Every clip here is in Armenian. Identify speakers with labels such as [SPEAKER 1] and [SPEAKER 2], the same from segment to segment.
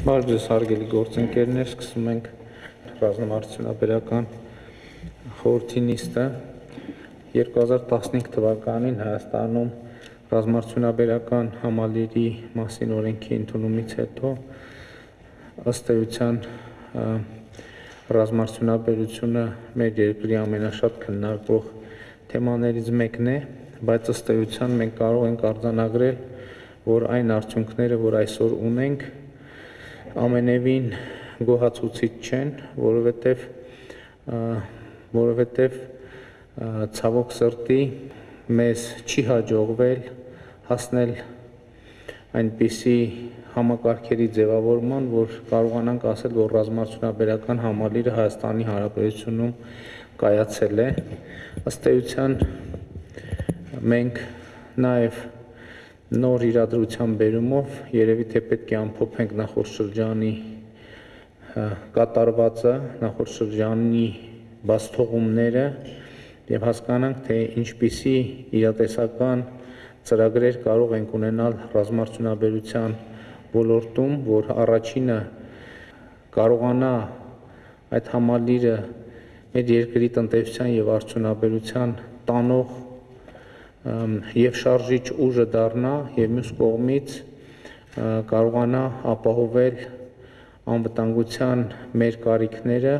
[SPEAKER 1] Բարև ձեզ հարգելի գործընկերներ, սկսում ենք ռազմամարդությունաբերական խորհրդի նիստը 2015 թվականին Հայաստանում ռազմամարդությունաբերական համալիրի մասին օրենքի ընդունումից հետո ըստ էության ռազմամարդությունաբերությունը մեր երկրի ամենաշատ քննարկվող թեմաներից մեկն է, բայց ըստ էության մենք կարող ենք արձանագրել, որ այն արդյունքները, որ այսօր ունենք, ամենևին գոհացուցիչ չեն, որովհետև ցավոք սրտի մեզ չի հաջողվել հասնել այնպիսի համակարգերի ձևավորման, որ կարողանանք ասել, որ ռազմամարդությունաբերական համալիրը Հայաստանի Հանրապետությունում կայացել է։ Ըստ էության մենք նաև նոր իրադրության բերումով երևի թե պետք է ամփոփենք նախորդ շրջանի կատարվածը, նախորդ շրջանի բացթողումները եւ հասկանանք, թե ինչպիսի իրատեսական ծրագրեր կարող ենք ունենալ ռազմամարդությունաբերության ոլորտում, որ առաջինը կարողանա այդ համալիրը մեր երկրի տնտեսության եւ արդյունաբերության տանող եւ շարժիչ ուժը դառնա եւ մյուս կողմից կարողանա ապահովել անվտանգության մեր կարիքները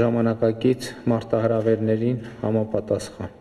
[SPEAKER 1] ժամանակակից մարտահրավերներին համապատասխան։